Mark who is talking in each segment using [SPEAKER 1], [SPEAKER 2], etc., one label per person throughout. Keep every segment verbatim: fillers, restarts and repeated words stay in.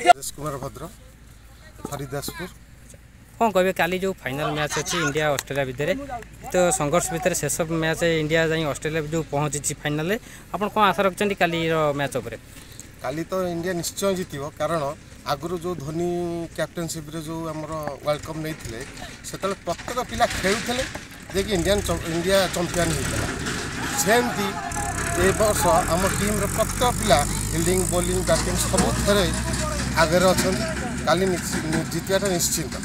[SPEAKER 1] ରାଜେଶ କୁମାର ଭଦ୍ର, ହରିଦାସପୁର।
[SPEAKER 2] କ'ଣ କହିବେ, କାଲି ଯେଉଁ ଫାଇନାଲ୍ ମ୍ୟାଚ୍ ଅଛି ଇଣ୍ଡିଆ ଅଷ୍ଟ୍ରେଲିଆ ଭିତରେ, ତ ସଂଘର୍ଷ ଭିତରେ ଶେଷ ମ୍ୟାଚ୍ ଇଣ୍ଡିଆ ଯାଇ ଅଷ୍ଟ୍ରେଲିଆ ଯେଉଁ ପହଞ୍ଚିଛି ଫାଇନାଲରେ, ଆପଣ କ'ଣ ଆଶା ରଖିଛନ୍ତି କାଲିର ମ୍ୟାଚ୍ ଉପରେ?
[SPEAKER 1] କାଲି ତ ଇଣ୍ଡିଆ ନିଶ୍ଚୟ ଜିତିବ, କାରଣ ଆଗରୁ ଯେଉଁ ଧୋନି କ୍ୟାପ୍ଟେନସିପ୍ରେ ଯେଉଁ ଆମର ୱାର୍ଲଡ଼ କପ୍ ନେଇଥିଲେ, ସେତେବେଳେ ପ୍ରତ୍ୟେକ ପିଲା ଖେଳୁଥିଲେ ଯେ କି ଇଣ୍ଡିଆନ୍ ଇଣ୍ଡିଆ ଚମ୍ପିଆନ୍ ହେଇଥିଲା। ସେମିତି ଏ ବର୍ଷ ଆମ ଟିମ୍ର ପ୍ରତ୍ୟେକ ପିଲା ଫିଲ୍ଡିଂ, ବୋଲିଂ, ବ୍ୟାଟିଂ ସବୁଥିରେ ଆଗରେ ଅଛନ୍ତି। କାଲି ଜିତିବାଟା ନିଶ୍ଚିନ୍ତ।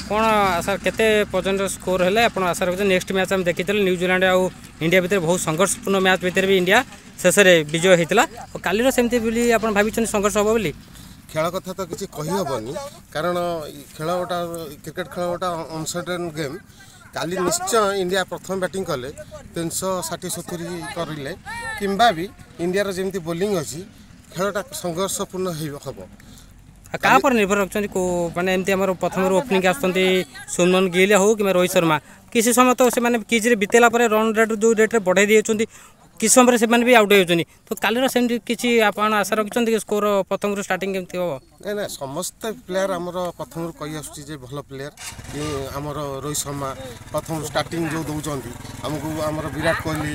[SPEAKER 2] କ'ଣ ଆଶା, କେତେ ପର୍ଯ୍ୟନ୍ତ ସ୍କୋର ହେଲେ ଆପଣ ଆଶା ରଖୁଛନ୍ତି? ନେକ୍ସଟ ମ୍ୟାଚ୍ ଆମେ ଦେଖିଥିଲେ ନ୍ୟୁଜିଲାଣ୍ଡ ଆଉ ଇଣ୍ଡିଆ ଭିତରେ ବହୁତ ସଂଘର୍ଷପୂର୍ଣ୍ଣ ମ୍ୟାଚ୍ ଭିତରେ ବି ଇଣ୍ଡିଆ ଶେଷରେ ବିଜୟ ହେଇଥିଲା। ଆଉ କାଲିର ସେମିତି ବୋଲି ଆପଣ ଭାବିଛନ୍ତି ସଂଘର୍ଷ ହେବ ବୋଲି?
[SPEAKER 1] ଖେଳ କଥା ତ କିଛି କହିହେବନି, କାରଣ ଖେଳ ଗୋଟା, କ୍ରିକେଟ ଖେଳ ଗୋଟା ଅନସର୍ଟେନ୍ ଗେମ୍। କାଲି ନିଶ୍ଚୟ ଇଣ୍ଡିଆ ପ୍ରଥମ ବ୍ୟାଟିଂ କଲେ ତିନିଶହ ଷାଠିଏ ସତୁରି କରିଲେ, କିମ୍ବା ବି ଇଣ୍ଡିଆର ଯେମିତି ବୋଲିଂ ଅଛି, ଖେଳଟା ସଂଘର୍ଷପୂର୍ଣ୍ଣ ହେବ।
[SPEAKER 2] ଆଉ କାହା ଉପରେ ନିର୍ଭର ରଖୁଛନ୍ତି? କେଉଁ ମାନେ ଏମିତି ଆମର ପ୍ରଥମରୁ ଓପନିଂ ଆସୁଛନ୍ତି ଶୁଭମନ ଗିଲ୍ ହେଉ କିମ୍ବା ରୋହିତ ଶର୍ମା, କିଛି ସମୟ ତ ସେମାନେ କିଜ୍ରେ ବିତେଇଲା ପରେ ରନ୍ ରେଟ୍ ଯେଉଁ ରେଟ୍ରେ ବଢ଼େଇ ଦେଇଛନ୍ତି, କିଛି ସମୟରେ ସେମାନେ ବି ଆଉଟ୍ ହେଇଯାଉଛନ୍ତି। ତ କାଲିର ସେମିତି କିଛି ଆପଣ ଆଶା ରଖିଛନ୍ତି କି ସ୍କୋର ପ୍ରଥମରୁ ଷ୍ଟାର୍ଟିଂ କେମିତି ହେବ?
[SPEAKER 1] ନାଇଁ ନାଇଁ, ସମସ୍ତେ ପ୍ଲେୟାର ଆମର ପ୍ରଥମରୁ କହି ଆସୁଛି ଯେ ଭଲ ପ୍ଲେୟାର ଆମର ରୋହିତ ଶର୍ମା ପ୍ରଥମରୁ ଷ୍ଟାର୍ଟିଂ ଯେଉଁ ଦେଉଛନ୍ତି ଆମକୁ, ଆମର ବିରାଟ କୋହଲି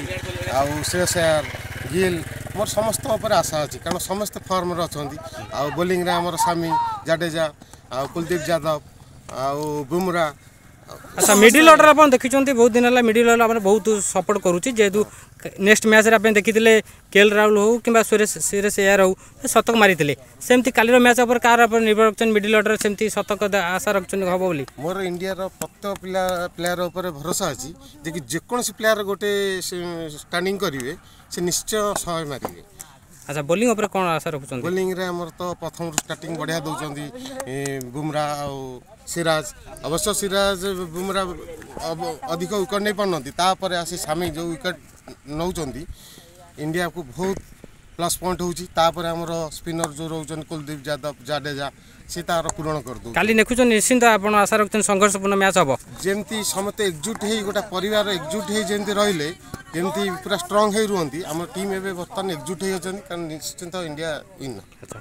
[SPEAKER 1] ଆଉ ଶ୍ରେୟସ ଆୟର, ଗିଲ୍, ମୋର ସମସ୍ତଙ୍କ ଉପରେ ଆଶା ଅଛି, କାରଣ ସମସ୍ତେ ଫର୍ମରେ ଅଛନ୍ତି। ଆଉ ବୋଲିଂରେ ଆମର ସାମି, ଜାଡେଜା ଆଉ କୁଲଦୀପ ଯାଦବ ଆଉ ବୁମରା।
[SPEAKER 2] ଆଚ୍ଛା, ମିଡିଲ୍ ଅର୍ଡ଼ର ଆପଣ ଦେଖିଛନ୍ତି ବହୁତ ଦିନ ହେଲା ମିଡିଲ୍ ଅର୍ଡ଼ର ଆମର ବହୁତ ସପୋର୍ଟ କରୁଛି, ଯେହେତୁ ନେକ୍ସଟ ମ୍ୟାଚ୍ରେ ଆପଣ ଦେଖିଥିଲେ କେଏଲ୍ ରାହୁଲ ହେଉ କିମ୍ବା ସୁରେଶ ସୁରେଶ ଏୟାର ହେଉ ଶତକ ମାରିଥିଲେ। ସେମିତି କାଲିର ମ୍ୟାଚ୍ ଉପରେ କାହାର ଉପରେ ନିର୍ଭର ରଖୁଛନ୍ତି? ମିଡିଲ୍ ଅର୍ଡ଼ର ସେମିତି ଶତକ ଆଶା ରଖୁଛନ୍ତି ହେବ ବୋଲି?
[SPEAKER 1] ମୋର ଇଣ୍ଡିଆର ପ୍ରତ୍ୟେକ ପିଲା ପ୍ଲେୟାର ଉପରେ ଭରସା ଅଛି ଯେ କି ଯେକୌଣସି ପ୍ଲେୟାର ଗୋଟେ ଷ୍ଟାଣ୍ଡିଂ କରିବେ, ସେ ନିଶ୍ଚୟ ଶହେ ମାରିବେ।
[SPEAKER 2] ଆଚ୍ଛା, ବୋଲିଂ ଉପରେ କ'ଣ ଆଶା ରଖୁଛନ୍ତି?
[SPEAKER 1] ବୋଲିଂରେ ଆମର ତ ପ୍ରଥମରୁ ଷ୍ଟାର୍ଟିଂ ବଢ଼ିଆ ଦେଉଛନ୍ତି ବୁମରା ଆଉ ସିରାଜ। ଅବଶ୍ୟ ସିରାଜ, ବୁମରା ଅଧିକ ୱିକେଟ୍ ନେଇପାରୁନାହାନ୍ତି, ତାପରେ ଆସି ସାମି ଯେଉଁ ୱିକେଟ୍ ନେଉଛନ୍ତି, ଇଣ୍ଡିଆକୁ ବହୁତ ପ୍ଲସ୍ ପଏଣ୍ଟ ହେଉଛି। ତାପରେ ଆମର ସ୍ପିନର ଯେଉଁ ରହୁଛନ୍ତି କୁଲଦୀପ ଯାଦବ, ଜାଡେଜା, ସେ ତାର ପୂରଣ କରିଦେଉଛି।
[SPEAKER 2] କାଲି ଦେଖୁଛନ୍ତି ନିଶ୍ଚିନ୍ତ ଆପଣ ଆଶା ରଖୁଛନ୍ତି ସଂଘର୍ଷପୂର୍ଣ୍ଣ ମ୍ୟାଚ୍ ହେବ?
[SPEAKER 1] ଯେମିତି ସମସ୍ତେ ଏକଜୁଟ ହେଇ, ଗୋଟେ ପରିବାର ଏକଜୁଟ ହେଇ ଯେମିତି ରହିଲେ, ଯେମିତି ପୁରା ଷ୍ଟ୍ରଙ୍ଗ ହେଇ ରୁହନ୍ତି, ଆମ ଟିମ୍ ଏବେ ବର୍ତ୍ତମାନ ଏକଜୁଟ ହେଇ ଅଛନ୍ତି, କାରଣ ନିଶ୍ଚିନ୍ତ ଇଣ୍ଡିଆ ୱିନ୍।
[SPEAKER 2] ଆଚ୍ଛା।